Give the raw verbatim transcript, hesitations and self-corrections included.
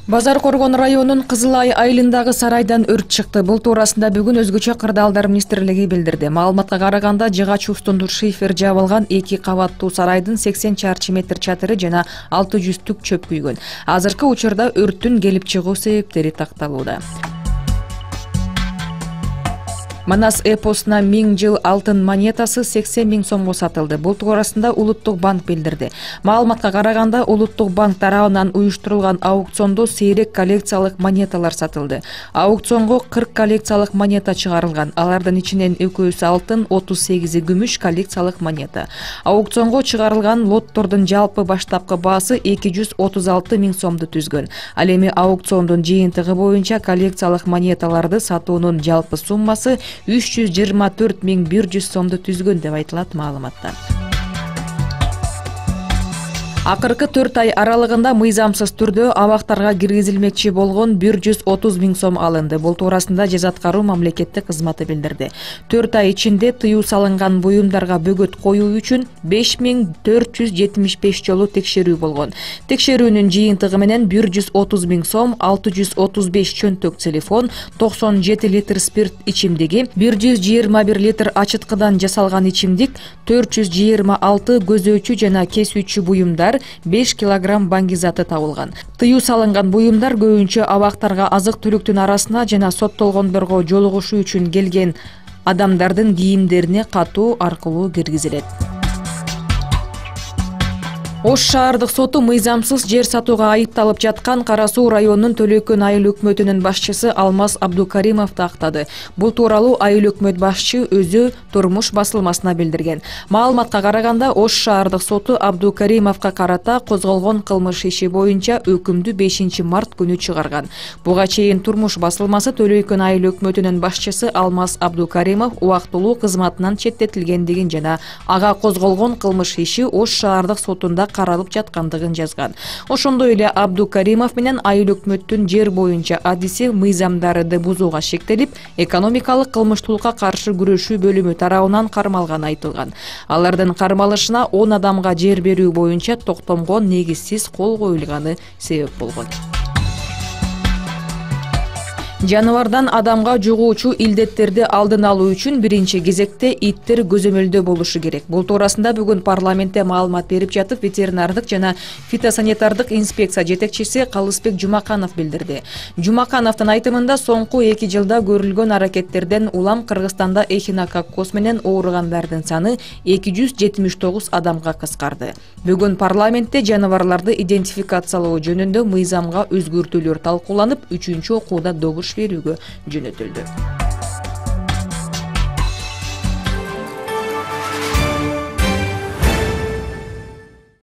Базар Коргон районунун Кызыл Ай айылындагы сарайдан өрт чыкты. Бул туурасында бүгүн Өзгөчө кырдаалдар министрлиги билдирди. Маалыматка караганда жыгач устунду шифер жабылган эки кабаттуу сарайдын сексен чарчы метр чатыры жана алты жүз түк чөп күйгөн. Азыркы учурда өрттүн келип чыгуу себептери такталууда. Манас эпосуна миң жыл алтын монетасы сексен миң сомго сатылды. Бул туурасында Улуттук банк билдирди. Маалыматка караганда Улуттук банк тарабынан уюштурулган аукциондо сейрек коллекциялык монеталар сатылды. Аукционго кырк коллекциялык монета чыгарылган. Алардын ичинен экөөсү алтын, отуз сегизи күмүш коллекциялык монета. Аукционго чыгарылган лоттордун жалпы баштапкы баасы эки жүз отуз алты миң сомду түзгөн. Ал эми аукциондун жыйынтыгы боюнча коллекциялык монеталарды сатуунун жалпы суммасы үч жүз жыйырма төрт миң бир жүз сомду түзгөн деп айтылат маалыматта. Акыркы төрт ай аралыгында мыйзамсыз түрдө абактарга киргизилмекчи болгон бир жүз отуз миң сом алынды. Бул туурасында Жаза аткаруу мамлекеттик кызматы билдирди. төрт ай ичинде тыюу салынган буюмдарга бөгөт коюу үчүн беш миң төрт жүз жетимиш беш жолу текшерүү болгон. Текшерүүнүн жыйынтыгы менен бир жүз отуз миң сом, алты жүз отуз беш чөнтөк телефон, токсон жети литр спирт ичимдиги, бир жүз жыйырма бир литр ачыткыдан жасалган ичимдик, төрт жүз жыйырма алты көзөөчү жана кесүүчү буюмдар, беш килограмм баңгизаты табылган. Тыюу салынган буюмдар көбүнчө абактарга азык-түлүктүн арасына жана соттолгондорго жолугушуу үчүн келген адамдардын кийимдерине катуу аркылуу киргизилет. Ош шаардык соту мыйзамсыз жер сатууга айыпталып жаткан Кара Суу районунун Төлөкөн айыл өкмөтүнүн башчысы Алмаз Абдукаримовду актады. Бул тууралуу айыл өкмөт башчы өзү Турмуш басылмасына билдирген. Маалыматка караганда Ош шаардык соту Абдукаримовго карата козголгон кылмыш иши боюнча өкүмдү бешинчи март күнү чыгарган. Буга чейин Турмуш басылмасы Төлөкөн айыл өкмөтүнүн башчысы Алмаз Абдукаримов убактылуу кызматынан четтетилгендигин жана ага козголгон кылмыш иши Ош шаардык сотунда каралып жаткандыгын жазган. Ошондой эле Абдукаримов менен айыл өкмөттүн жер боюнча адиси мыйзамдарды бузууга шектелип, экономикалык кылмыштуулукка каршы күрөшүү бөлүмү тарабынан кармалганы айтылган. Алардын кармалышына он адамга жер берүү боюнча токтомго негизсиз кол коюлганы себеп болгон. Жаныбардан адамга жугуучу илдеттерди алдын алуу үчүн биринчи кезекте иттер көзөмөлдө болушу керек. Бул туурасында бүгүн парламентте маалымат берип жатып, ветеринардык жана фитосанитардык инспекция жетекчиси Калысбек Жумаканов билдирди. Жумакановдун айтымында соңку эки жылда көрүлгөн аракеттерден улам Кыргызстанда эхинококкоз менен ооругандардын саны эки жүз жетимиш тогуз адамга кыскарды. Бүгүн парламентте жаныбарларды идентификациялоо жөнүндө мыйзамга өзгөртүүлөр талкууланып, үчүнчү окууда добуш берүүгө жөнөтүлдү.